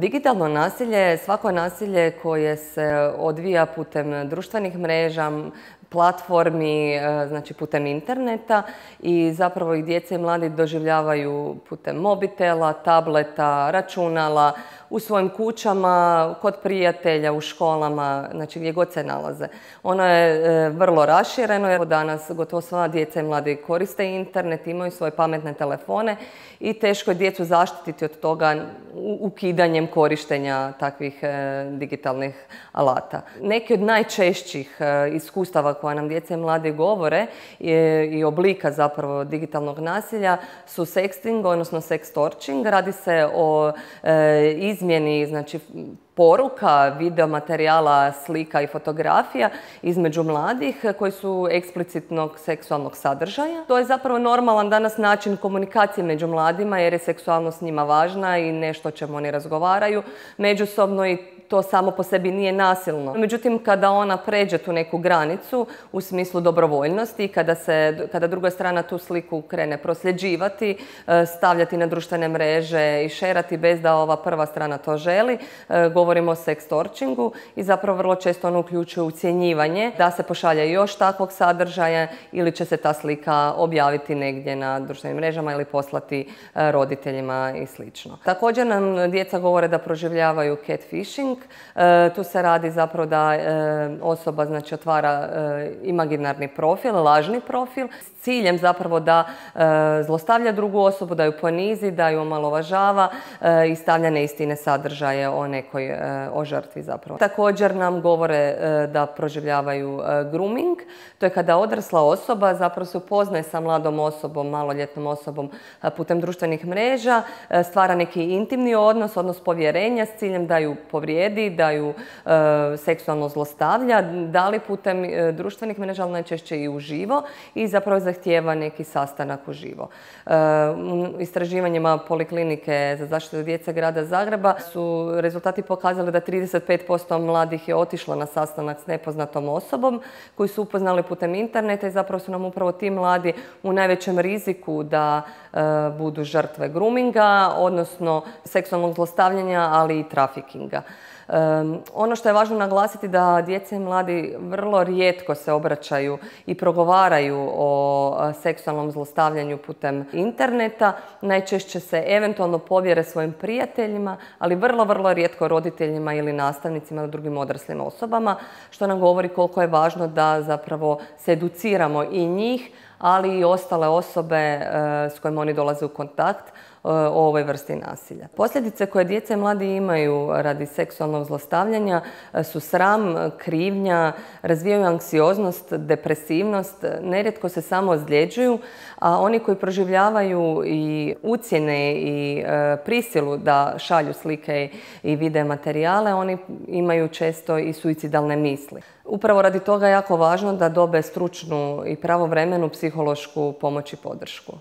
Digitalno nasilje je svako nasilje koje se odvija putem društvenih mreža, platformi, znači putem interneta i zapravo ih djeca i mladi doživljavaju putem mobitela, tableta, računala, u svojim kućama, kod prijatelja, u školama, znači gdje god se nalaze. Ono je vrlo rašireno jer danas gotovo sva djeca i mladi koriste internet, imaju svoje pametne telefone i teško je djecu zaštititi od toga ukidanjem korištenja takvih digitalnih alata. Neki od najčešćih iskustava koja nam djeca i mladi govore i oblika zapravo digitalnog nasilja su sexting, odnosno sextorching. Radi se o izmjeni, znači, poruka, video materijala, slika i fotografija između mladih koji su eksplicitnog seksualnog sadržaja. To je zapravo normalan danas način komunikacije među mladima jer je seksualnost njima važna i nešto o čemu oni razgovaraju međusobno i to samo po sebi nije nasilno. Međutim, kada ona pređe tu neku granicu u smislu dobrovoljnosti, kada druga strana tu sliku krene prosljeđivati, stavljati na društvene mreže i šerati bez da ova prva strana to želi, govorimo o sextorchingu i zapravo vrlo često ono uključuje ucjenjivanje da se pošalje još takvog sadržaja ili će se ta slika objaviti negdje na društvenim mrežama ili poslati roditeljima i sl. Također nam djeca govore da proživljavaju catfishing. Tu se radi zapravo da osoba, znači, otvara imaginarni profil, lažni profil s ciljem zapravo da zlostavlja drugu osobu, da ju ponizi, da ju omalovažava i stavlja neistine sadržaje o žrtvi zapravo. Također nam govore da proživljavaju grooming. To je kada odrasla osoba zapravo se upoznaje sa mladom osobom, maloljetnom osobom putem društvenih mreža, stvara neki intimni odnos povjerenja s ciljem da ju povrijedi, da ju seksualno zlostavlja, da li putem društvenih mreža, ali najčešće i uživo i zapravo zahtijeva neki sastanak uživo. U istraživanjima Poliklinike za zaštitu djece grada Zagreba su rezultati pokazali da 35% mladih je otišlo na sastanak s nepoznatom osobom koji su upoznali putem interneta i zapravo su nam upravo ti mladi u najvećem riziku da budu žrtve groominga, odnosno seksualnog zlostavljanja, ali i trafikinga. Ono što je važno naglasiti da djeca i mladi vrlo rijetko se obraćaju i progovaraju o seksualnom zlostavljanju putem interneta. Najčešće se eventualno povjere svojim prijateljima, ali vrlo rijetko roditeljima ili nastavnicima ili drugim odraslim osobama, što nam govori koliko je važno da zapravo se educiramo i njih, ali i ostale osobe s kojima oni dolaze u kontakt o ovoj vrsti nasilja. Posljedice koje djeca i mladi imaju radi seksualnog zlostavljanja su sram, krivnja, razvijaju anksioznost, depresivnost, nerijetko se samo ozljeđuju, a oni koji proživljavaju i ucjene i prisilu da šalju slike i video materijale, oni imaju često i suicidalne misli. Upravo radi toga je jako važno da dobe stručnu i pravovremenu psihološku pomoć i podršku.